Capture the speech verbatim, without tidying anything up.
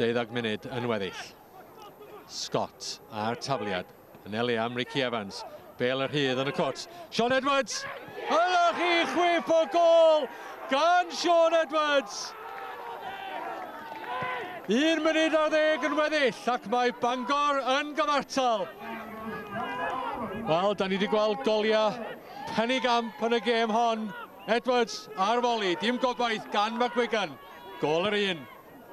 Deuddag munud yn weddill. Scott a'r tafliad. Yn eli am Ricky Evans. Bêl yr rhydd yn y cwrt. Sean Edwards! Yna chi chwip o gol gan Sean Edwards! Un munud ar ddeg yn weddill ac mae Bangor yn gyfartal. Wel, da ni wedi gweld goliau penigamp yn y gêm hon. Edwards ar foli, dim gobaith gan McGuigan. Gôl yr un.